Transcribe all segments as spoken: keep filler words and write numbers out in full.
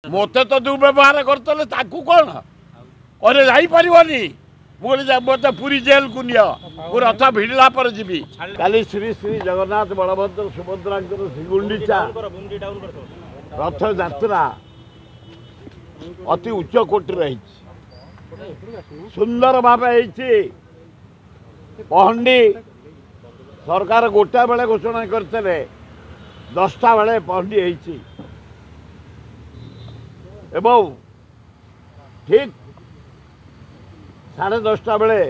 ମୋତେ ତ ଦୁର୍ବ୍ୟବହାର କରିଥିଲେ, ତାକୁ କ'ଣ କହିଲେ ଯାଇପାରିବନି। ମୁଁ କହିଲି ମୋତେ ପୁରୀ ଜେଲକୁ ନିଅ, ମୁଁ ରଥ ଭିଡ଼ିଲା ପରେ ଯିବି। କାଲି ଶ୍ରୀ ଶ୍ରୀ ଜଗନ୍ନାଥ ବଳଭଦ୍ର ସୁଭଦ୍ରାଙ୍କର ଶ୍ରୀଗୁଣ୍ଡିଚା ରଥଯାତ୍ରା ଅତି ଉଚ୍ଚ କୋଟିର ହେଇଛି, ସୁନ୍ଦର ଭାବେ ହେଇଛି। ପହଣ୍ଡି ସରକାର ଗୋଟାଏ ବେଳେ ଘୋଷଣା କରିଥିଲେ, ଦଶଟା ବେଳେ ପହଣ୍ଡି ହେଇଛି ଏବଂ ଠିକ୍ ସାଢ଼େ ଦଶଟା ବେଳେ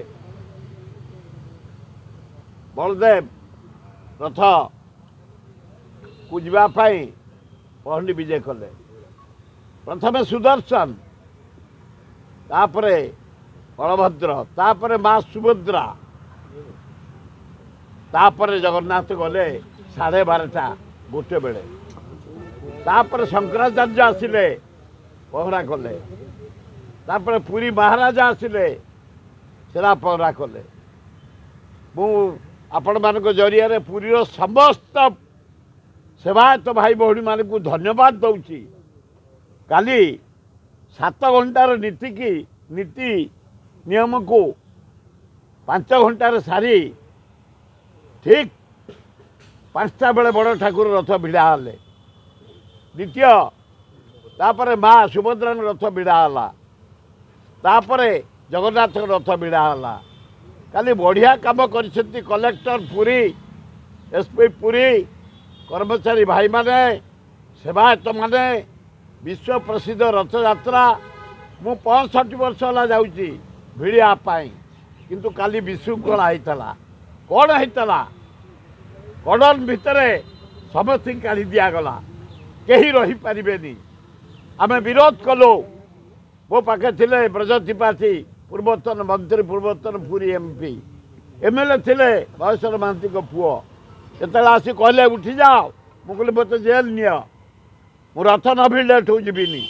ବଳଦେବ ରଥକୁ ଯିବା ପାଇଁ ପହଣ୍ଡି ବିଜେ କଲେ। ପ୍ରଥମେ ସୁଦର୍ଶନ, ତାପରେ ବଳଭଦ୍ର, ତାପରେ ମା ସୁଭଦ୍ରା, ତାପରେ ଜଗନ୍ନାଥ ଗଲେ ସାଢ଼େ ବାରଟା ଗୋଟେ ବେଳେ। ତାପରେ ଶଙ୍କରାଚାର୍ଯ୍ୟ ଆସିଲେ, ପହରା କଲେ। ତାପରେ ପୁରୀ ମହାରାଜା ଆସିଲେ, ସେରା ପହରା କଲେ। ମୁଁ ଆପଣମାନଙ୍କ ଜରିଆରେ ପୁରୀର ସମସ୍ତ ସେବାୟତ ଭାଇ ଭଉଣୀମାନଙ୍କୁ ଧନ୍ୟବାଦ ଦେଉଛି। କାଲି ସାତ ଘଣ୍ଟାର ନୀତିକି ନୀତି ନିୟମକୁ ପାଞ୍ଚ ଘଣ୍ଟାରେ ସାରି ଠିକ୍ ପାଞ୍ଚଟା ବେଳେ ବଡ଼ ଠାକୁର ରଥ ଭିଡ଼ା ହେଲେ। ଦ୍ୱିତୀୟ ତାପରେ ମା ସୁଭଦ୍ରାଙ୍କ ରଥ ଭିଡ଼ା ହେଲା, ତାପରେ ଜଗନ୍ନାଥଙ୍କ ରଥ ଭିଡ଼ା ହେଲା। କାଲି ବଢ଼ିଆ କାମ କରିଛନ୍ତି collector Puri, S P Puri, କର୍ମଚାରୀ ଭାଇମାନେ, ସେବାୟତମାନେ। ବିଶ୍ୱ ପ୍ରସିଦ୍ଧ ରଥଯାତ୍ରା ମୁଁ ପଞ୍ଚଷଠି ବର୍ଷ ହେଲା ଯାଉଛି ଭିଡ଼ିବା ପାଇଁ, କିନ୍ତୁ କାଲି ବିଶୃଙ୍ଖଳା ହେଇଥିଲା। କ'ଣ ହେଇଥିଲା? କଡ଼ନ ଭିତରେ ସମସ୍ତଙ୍କୁ କାଢ଼ି ଦିଆଗଲା, କେହି ରହିପାରିବେନି। ଆମେ ବିରୋଧ କଲୁ। ମୋ ପାଖେ ଥିଲେ ବ୍ରଜ ତ୍ରିପାଠୀ, ପୂର୍ବତନ ମନ୍ତ୍ରୀ, ପୂର୍ବତନ Puri M P, M L ଏ ଥିଲେ ମହେଶ୍ୱର ମହାନ୍ତିଙ୍କ ପୁଅ। ଯେତେବେଳେ ଆସି କହିଲେ ଉଠିଯାଅ, ମୁଁ କହିଲି ମୋତେ ଜେଲ୍ ନିଅ, ମୁଁ ରଥ ନ ଭିଡ଼ିଲେ ଏଠୁ ଯିବିନି।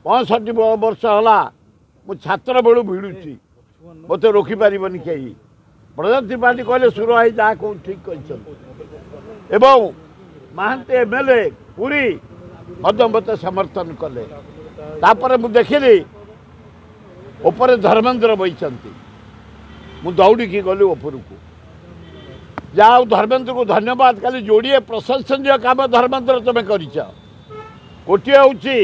ପଞ୍ଚଷଠି ବର୍ଷ ହେଲା ମୁଁ ଛାତ୍ର ବେଳୁ ଭିଡ଼ୁଛି, ମୋତେ ରୋକିପାରିବନି କେହି। ବ୍ରଜ ତ୍ରିପାଠୀ କହିଲେ ସୁର ଭାଇ ଯାହା କହୁ ଠିକ୍ କହିଛନ୍ତି, ଏବଂ ମହାନ୍ତି ଏମ୍ ଏଲ୍ ଏ ପୁରୀ ମଧ୍ୟ ମୋତେ ସମର୍ଥନ କଲେ। ତାପରେ ମୁଁ ଦେଖିଲି ଉପରେ ଧର୍ମେନ୍ଦ୍ର ବଇଛନ୍ତି, ମୁଁ ଦୌଡ଼ିକି ଗଲି ଉପରକୁ। ଯାହା ହଉ ଧର୍ମେନ୍ଦ୍ରକୁ ଧନ୍ୟବାଦ। କାଲି ଯୋଡ଼ିଏ ପ୍ରଶଂସନୀୟ କାମ ଧର୍ମେନ୍ଦ୍ର ତୁମେ କରିଛ। ଗୋଟିଏ ହେଉଛି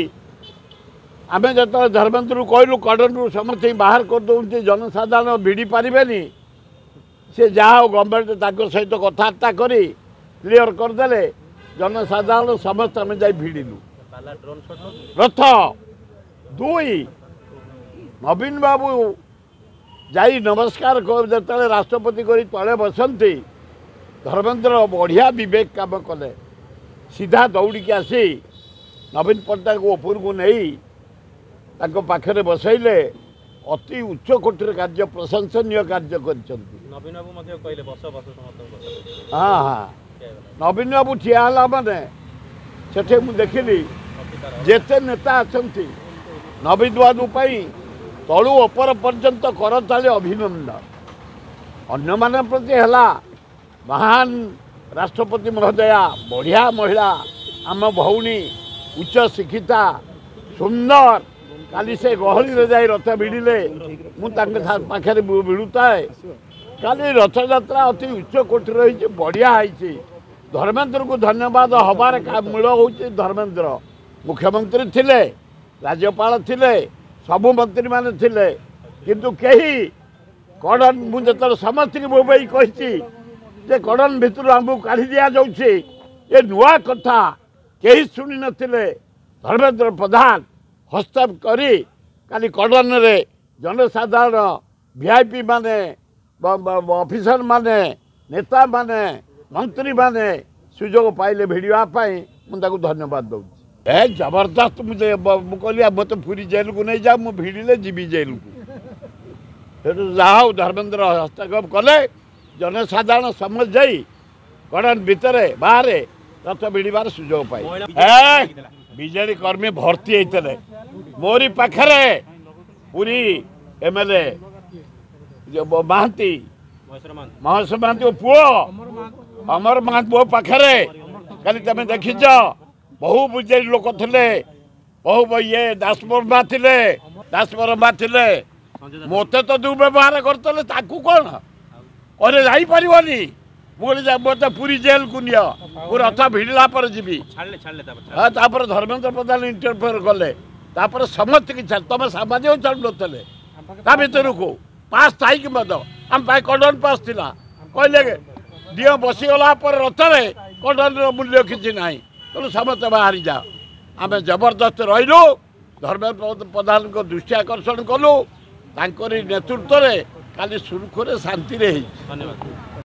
ଆମେ ଯେତେବେଳେ ଧର୍ମେନ୍ଦ୍ରକୁ କହିଲୁ କଡ଼ନରୁ ସମସ୍ତଙ୍କୁ ବାହାର କରିଦେଉଛନ୍ତି, ଜନସାଧାରଣ ଭିଡ଼ି ପାରିବେନି, ସେ ଯାହା ହଉ ଗଭର୍ଣ୍ଣମେଣ୍ଟ ତାଙ୍କ ସହିତ କଥାବାର୍ତ୍ତା କରି କ୍ଲିଅର କରିଦେଲେ, ଜନସାଧାରଣ ସମସ୍ତେ ଆମେ ଯାଇ ଭିଡ଼ିଲୁ ରଥ। ଦୁଇ, ନବୀନ ବାବୁ ଯାଇ ନମସ୍କାର ଯେତେବେଳେ ରାଷ୍ଟ୍ରପତି କରି ତଳେ ବସନ୍ତି, ଧର୍ମେନ୍ଦ୍ର ବଢ଼ିଆ ବିବେକ କାମ କଲେ, ସିଧା ଦୌଡ଼ିକି ଆସି ନବୀନ ପଟ୍ଟନାୟକ ଉପରକୁ ନେଇ ତାଙ୍କ ପାଖରେ ବସାଇଲେ। ଅତି ଉଚ୍ଚ କୋଟିର କାର୍ଯ୍ୟ, ପ୍ରଶଂସନୀୟ କାର୍ଯ୍ୟ କରିଛନ୍ତି। ହଁ ହଁ, ନବୀନ ବାବୁ ଠିଆ ହେଲା ମାନେ ସେଠି ମୁଁ ଦେଖିଲି ଯେତେ ନେତା ଅଛନ୍ତି ନବୀନ ବାବୁ ପାଇଁ ତଳୁ ଉପର ପର୍ଯ୍ୟନ୍ତ କରତାଳି ଅଭିନନ୍ଦନ। ଅନ୍ୟମାନଙ୍କ ପ୍ରତି ହେଲା ମହାନ ରାଷ୍ଟ୍ରପତି ମହୋଦୟା, ବଢ଼ିଆ ମହିଳା, ଆମ ଭଉଣୀ, ଉଚ୍ଚ ଶିକ୍ଷିତା, ସୁନ୍ଦର। କାଲି ସେ ଗହଳିରେ ଯାଇ ରଥ ଭିଡ଼ିଲେ, ମୁଁ ତାଙ୍କ ପାଖରେ ଭିଡ଼ୁଥାଏ। କାଲି ରଥଯାତ୍ରା ଅତି ଉଚ୍ଚ କୋଟିର ହେଇଛି, ବଢ଼ିଆ ହେଇଛି। ଧର୍ମେନ୍ଦ୍ରକୁ ଧନ୍ୟବାଦ ହବାର ମୂଳ ହେଉଛି ଧର୍ମେନ୍ଦ୍ର। ମୁଖ୍ୟମନ୍ତ୍ରୀ ଥିଲେ, ରାଜ୍ୟପାଳ ଥିଲେ, ସବୁ ମନ୍ତ୍ରୀମାନେ ଥିଲେ, କିନ୍ତୁ କେହି କଡ଼ନ, ମୁଁ ଯେତେବେଳେ ସମସ୍ତଙ୍କୁ ବୋବେଇ କହିଛି ଯେ କଡ଼ନ ଭିତରୁ ଆମକୁ କାଢ଼ି ଦିଆଯାଉଛି, ଏ ନୂଆ କଥା କେହି ଶୁଣି ନଥିଲେ। ଧର୍ମେନ୍ଦ୍ର ପ୍ରଧାନ ହସ୍ତକ୍ଷେପ କରି କାଲି କଡ଼ନରେ ଜନସାଧାରଣ, ଭି I P ମାନେ, ଅଫିସର ମାନେ, ନେତାମାନେ, ମନ୍ତ୍ରୀମାନେ ସୁଯୋଗ ପାଇଲେ ଭିଡ଼ିବା ପାଇଁ। ମୁଁ ତାକୁ ଧନ୍ୟବାଦ ଦେଉଛି। ଏ ଜବରଦସ୍ତ। ମୁଁ ମୁଁ କହିଲି ମୋତେ ପୁରୀ ଜେଲକୁ ନେଇଯାଅ, ମୁଁ ଭିଡ଼ିଲେ ଯିବି ଜେଲକୁ। ସେଠୁ ଯାହା ହଉ ଧର୍ମେନ୍ଦ୍ର ହସ୍ତକ୍ଷେପ କଲେ, ଜନସାଧାରଣ ସମସ୍ତେ ଯାଇ କଡ଼ନ ଭିତରେ ବାହାରେ ରଥ ଭିଡ଼ିବାର ସୁଯୋଗ ପାଇ ବିଜେଡି କର୍ମୀ ଭର୍ତ୍ତି ହେଇଥିଲେ। ମୋରି ପାଖରେ Puri M L A Mohanty, Maheswar ମହାନ୍ତିଙ୍କ ପୁଅ ଅମର ମହାନ୍ତି ମୋ ପାଖରେ କାଲି ତମେ ଦେଖିଛ, ବହୁ ବିଜେଡି ଲୋକ ଥିଲେ। ବହୁ ଇଏ ଦାସବର୍ମା ଥିଲେ, ଦାସବର୍ମା ଥିଲେ, ମୋତେ ତ ଦୁର୍ବ୍ୟବହାର କରିଥିଲେ। ତାକୁ କ'ଣ କହିଲେ, ଯାଇପାରିବନି। ମୁଁ କହିଲି, ମୋତେ ପୁରୀ ଜେଲକୁ ନିଅ, ମୁଁ ରଥ ଭିଡ଼ିଲା ପରେ ଯିବି। ହଁ, ତାପରେ ଧର୍ମେନ୍ଦ୍ର ପ୍ରଧାନ ଇଣ୍ଟରଫିୟର କଲେ, ତାପରେ ସମସ୍ତେ କିଛି ତମେ ସାମ୍ବାଦିକ ଛାଡ଼ୁନଥିଲେ ତା ଭିତରକୁ। ପାସ୍ ଥାଇକି ମଧ୍ୟ ଆମ ପାଇଁ କଣ୍ଡନ ପାସ୍ ଥିଲା। କହିଲେ ଦିଅ ବସିଗଲା ପରେ ରଥରେ କଣ୍ଡନର ମୂଲ୍ୟ କିଛି ନାହିଁ, ତେଣୁ ସମସ୍ତେ ବାହାରି ଯାଅ। ଆମେ ଜବରଦସ୍ତ ରହିଲୁ, ଧର୍ମେନ୍ଦ୍ର ପ୍ରଧାନଙ୍କ ଦୃଷ୍ଟି ଆକର୍ଷଣ କଲୁ। ତାଙ୍କରି ନେତୃତ୍ୱରେ କାଲି ସୁରୁଖୁରୁରେ ଶାନ୍ତିରେ ହେଇଛି। ଧନ୍ୟବାଦ।